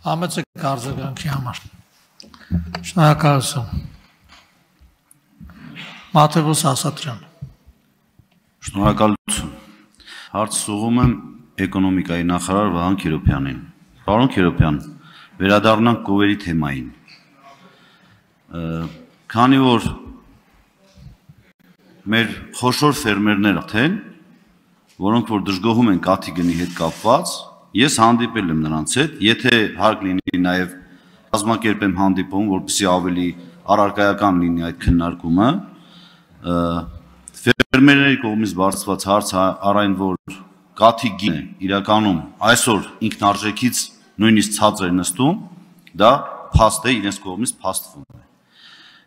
Համեցեք արձագանքի համար։ Շնորհակալություն։ Մաթեոս Ասատրյան։ Շնորհակալություն։ Հարց ուղղում եմ էկոնոմիկայի նախարար Վահան Քերոբյանին։ Պարոն Քերոբյան, վերադառնանք կովերի թեմային։ Քանի որ մեր խոշոր ֆերմերներ են, որոնք որ դժգոհում են կաթի գնի հետ կապված, ես հանդիպել եմ նրանց հետ, եթե հարկ լինի նաև կազմակերպեմ հանդիպում, որպեսզի ավելի առարկայական լինի այդ քննարկումը, ֆերմերների կողմից բարձրացված հարց առայն որ կաթի գինը իրականում այսօր ինքնարժեքից նույնիսկ ցածր է նստում, դա փաստ է, իրենց կողմից փաստվում է։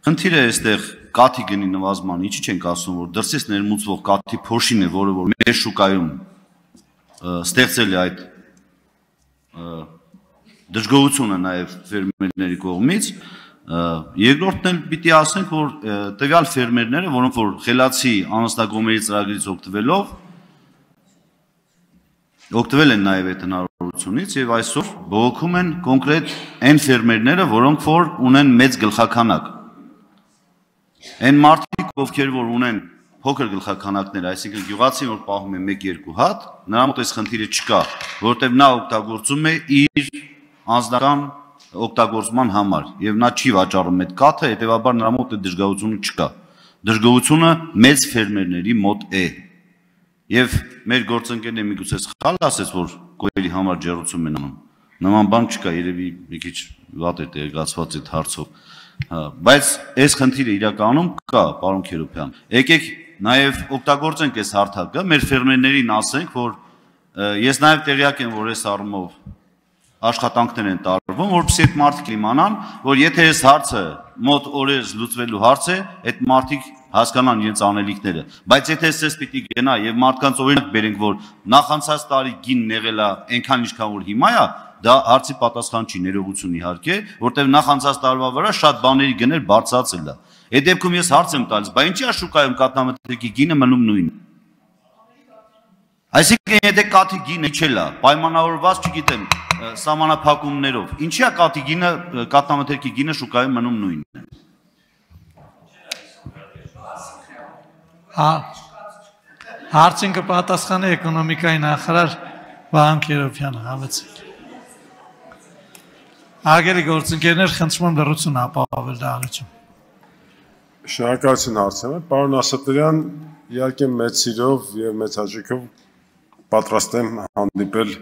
Խնդիրը այստեղ կաթի գնի նվազման, ինչի չենք ասում, որ դրսից ներմուծվող կաթի փոշին է, որը որ մեր շուկայում ստեղծել է այդ դժգոհությունը նաև ֆերմերների կողմից, երկրորդն էլ պիտի ասենք, որ տվյալ ֆերմերները, որոնք որ խելացի անասնագոմերի ծրագրից օգտվել են նաև այդ հնարավորությունից եւ այսօր բողոքում են կոնկրետ այն ֆերմերները, որոնք որ ունեն մեծ գլխաքանակ։ Այն մարդիկ, ովքեր որ ունեն փոքր գլխաքանակներ, այսինքն գյուղացին որ պահում է 1-2 հատ, նրա մոտ այս խնդիրը չկա, որովհետև նա օգտագործում է իր անձնական օգտագործման համար եւ նա չի վաճառում այդ կաթը, հետեւաբար նրա մոտ այդ դժգոհությունը չկա։ Դժգոհությունը մեծ ֆերմերների մոտ է։ Եվ մեր գործընկերները միգուցե սխալ ասես, որ կոյերի համար ջեռուցում են անում։ Նման բան չկա, երևի մի քիչ վատ է տեղեկացված այդ հարցով։ Բայց այս խնդիրը իրականում կա, պարոն Քերոբյան։ Եկեք նաև օգտագործենք այս հարթակը, մեր ֆերմերներին ասենք, որ ես նաև տեղյակ եմ, որ այս առումով աշխատանքներ են տարվում, որպեսզի այդ մարդիկ իմանան, որ եթե այս հարցը մոտ օրերս լուծվելու հարց է, այդ մարդիկ հասկանան իրենց անելիքները, բայց եթե ես պիտի գնա եւ մարդկանց օրինակ բերենք, որ նախանցած տարի գինն եղել է այնքան ինչքան որ հիմա է, դա հարցի պատասխան չի, ներողություն իհարկե, որտեղ նախանցած տարվա վրա շատ բաների գներ բարձրացել է։ Այդ դեպքում ես հարց եմ տալիս, բայց ինչի՞ է շուկայում կաթնամթերքի գինը մնում նույնը։ Այսինքն եթե կաթի գինը իջել է, պայմանավորված, չգիտեմ, սահմանափակումներով, ինչի՞ է կաթի գինը, կաթնամթերքի գինը շուկայում մնում նույնն է։ Հարցին կպատասխանի էկոնոմիկայի նախարար Վահան Քերոբյանը, համեցեք։ Արգելի գործընկերներ, խնդրում եմ լռություն ապահովել դահլիճում։ Շնորհակալություն հարցը։ Պարոն Ասատրյան, իհարկե մեծ սիրով եւ մեծ հաճույքով պատրաստ եմ հանդիպել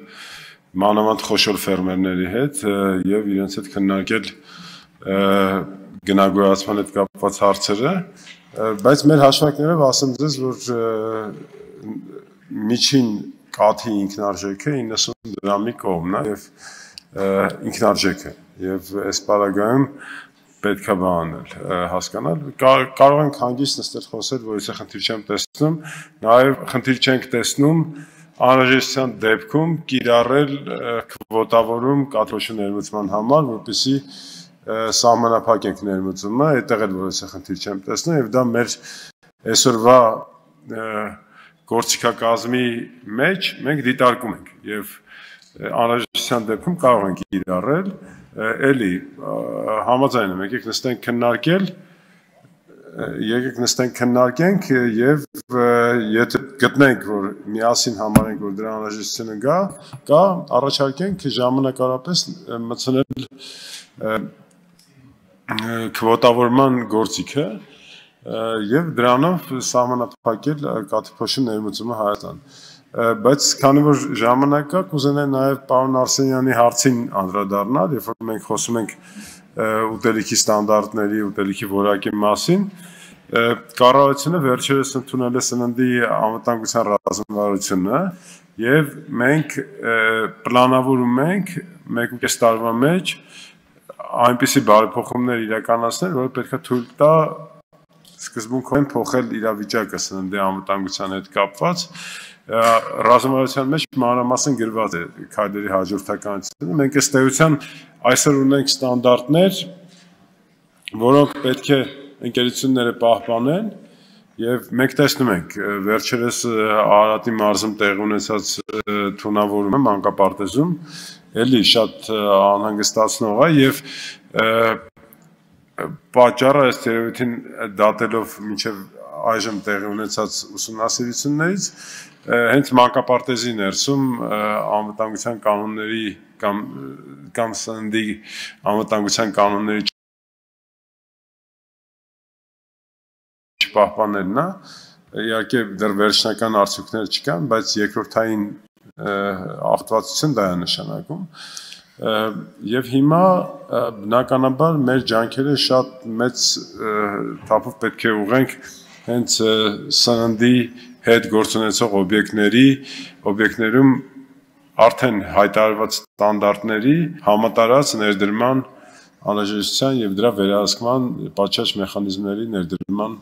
մանավանդ խոշոր ֆերմերների հետ եւ իրենց հետ քննարկել գնագոյացման հետ կապված հարցերը, բայց մեր հաշվարկներով ասեմ ձեզ, որ միջին կաթի ինքնարժեքը 90 դրամի կողմն է եւ ինքնարժեքը եւ այս պարագայում պետք է բանել հասկանալ կարող ենք հանգիստ նստել խոսել որ ես խնդիր չեմ տեսնում նաեւ խնդիր չենք տեսնում անհրաժեշտության դեպքում կիրառել քվոտավորում կաթոշու ներմուծման համար որպեսզի սահմանափակենք ներմուծումը այդտեղ էլ որ ես խնդիր չեմ տեսնում եւ դա մեր այսօրվա գործիքակազմի մեջ մենք դիտարկում ենք եւ անհրաժեշտության դեպքում կարող ենք իրարել, էլի համաձայն եմ, եկեք նստենք քննարկենք եւ եթե գտնենք, որ միասին համարենք, որ դրա անհրաժեշտությունը կա, առաջարկենք ժամանակավորապես մտցնել քվոտավորման գործիքը եւ դրանով սահմանափակել կաթիփոշի ներմուծումը Հայաստան։ Բայց քանի որ ժամանակ կա, կուզենայի նաև պարոն Արսենյանի հարցին անդրադառնալ, երբ որ մենք խոսում ենք ուտելիքի ստանդարտների, ուտելիքի որակի մասին, կառավարությունը վերջերս ընդունել է սննդի անվտանգության ռազմավարությունը եւ մենք պլանավորում ենք 1.5 տարվա մեջ այնպիսի բարեփոխումներ իրականացնել, որը պետք է թույլ տա սկզբունքորեն փոխել իրավիճակը սննդի անվտանգության հետ կապված ռազմավարության մեջ մանրամասն գրված է քայլերի հաջորդականությունը։ Մենք ըստ էության այսօր ունենք ստանդարտներ, որոնք պետք է ընկերությունները պահպանեն եւ մենք տեսնում ենք վերջերս Արարատի մարզում տեղի ունեցած թունավորումը մանկապարտեզում էլի շատ անհանգստացնող է եւ պատճառը ըստ երևույթին դատելով մինչեւ այժմ տեղի ունեցած ուսումնասիրություններից հենց մանկապարտեզի ներսում անվտանգության կանոնների կամ սննդի անվտանգության կանոնների չպահպանելն է իհարկե դեռ վերջնական արդյունքներ չկան բայց երկրորդային աղտոտություն դա է նշանակում եւ հիմա բնականաբար մեր ջանքերը շատ մեծ թափով պետք է ուղենք հենց սննդի հետ գործունեցող օբյեկտներում արդեն հայտարարված ստանդարտների համատարած ներդրման անհրաժեշտության եւ դրա վերահսկման պատշաճ մեխանիզմների ներդրման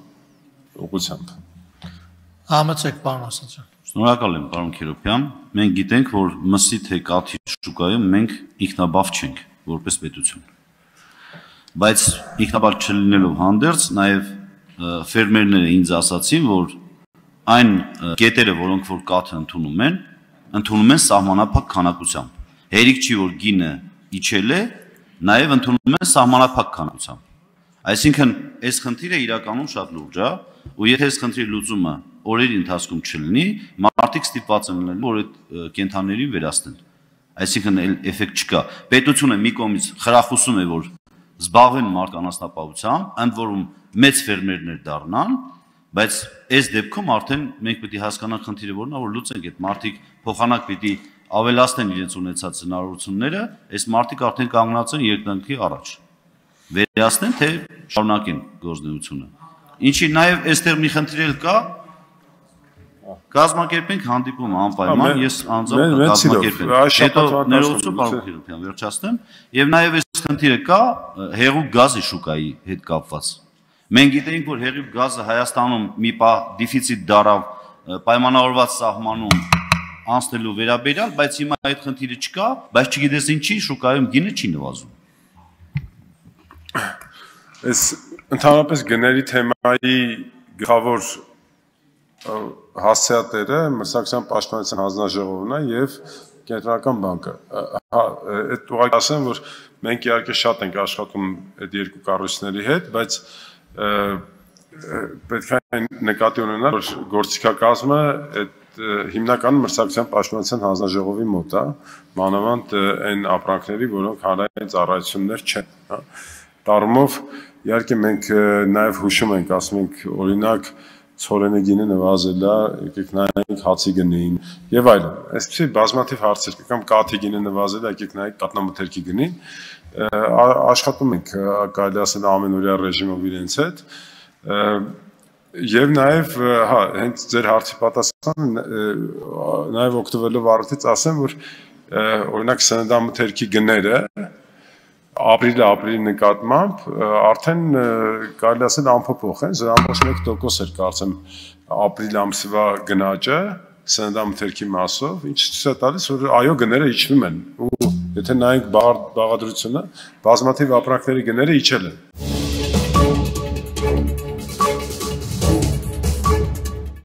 ուղղությամբ Համեցեք պարոն Ասատրյան Շնորհակալ եմ պարոն Քիրոփյան մենք գիտենք որ մսի թե կաթի շուկայում մենք ինքնաբավ չենք որպես պետություն բայց ինքնաբավ չլինելով հանդերձ նաեւ ֆերմերները ինձ ասացին որ այն կետերը որոնք որ կաթը ընդունում են սահմանափակ քանակությամբ հերիք չի որ գինը իջել է նաեւ ընդունում են սահմանափակ քանակությամբ այսինքն այս խնդիրը իրականում շատ լուրջ է ու եթե այս խնդրի լուծումը օրերի ընթացքում չլինի մարդիկ ստիպված են լինելու որ այդ կենթանիներին վերացնեն այսինքն էֆեկտ չկա պետությունը մի կողմից խրախուսում է որ զբաղվեն մարկանասնապահությամբ ընդ որում մեծ ֆերմերներ դառնան բայց այս դեպքում արդեն մենք պետք է հասկանանք խնդիրը որն է որ լուծենք այդ մարդիկ փոխանակ պետք է ավելացնեն իրենց ունեցած հնարավորությունները այս մարդիկ արդեն կանգնած են երկնքի առաջ վերացնեն թե շարունակեն գործունեությունը ինչի նաև այստեղ մի խնդիր կա կազմակերպենք հանդիպում անպայման ես անձամբ կազմակերպեմ հետո ներողություն պարոն Քիրոփյան վերջացնեմ եւ նաև այս խնդիրը կա հեղուկ գազի շուկայի հետ կապված մենք գիտենք որ հեղուկ գազը Հայաստանում մի պահ դեֆիցիտ դարավ պայմանավորված սահմանում անցնելու վերաբերյալ բայց հիմա այդ խնդիրը չկա բայց չգիտես ինչի շուկայում գինը չի նվազում Այս ընդհանրապես գների թեմայի գլխավոր հասցեատերը մրցակցության պաշտպանության հանձնաժողովն է եւ կենտրոնական բանկը այդ ուղղակի ասեմ որ մենք իհարկե շատ ենք աշխատում այդ երկու կառույցների հետ բայց պետք է նկատի ունենալ որ գործիքակազմը այդ հիմնականում մրցակցության պաշտպանության հանձնաժողովի մոտ է մանավանդ այն ապրանքների որոնք հանրային ծառայություններ չեն Տարումով իհարկե մենք նաև հուշում ենք, ասում ենք, օրինակ ցորենի գինը նվազել է, եկեք նայենք հացի գնին եւ այլն։ Այսպեսի բազմաթիվ հարցեր կա, կամ կաթի գինը նվազել է, եկեք նայենք կատնամթերքի գնին։ Աշխատում ենք, կարելի ասել ամենօրյա ռեժիմով իրենց հետ։ Եվ նաև, հա, հենց ձեր հարցի պատասխանը նաև օգտվելով առիթից ասեմ, որ օրինակ սննդամթերքի գները ապրիլի նկատմամբ արդեն կարելի ասել անփոփոխ են, 0.1% էր կարծեմ ապրիլ ամսվա գնաճը սննդամթերքի մասով, ինչը ցույց է տալիս, որ այո գները իջնում են ու եթե նայենք բաղադրությունը, բազմաթիվ ապրանքների գները իջել են։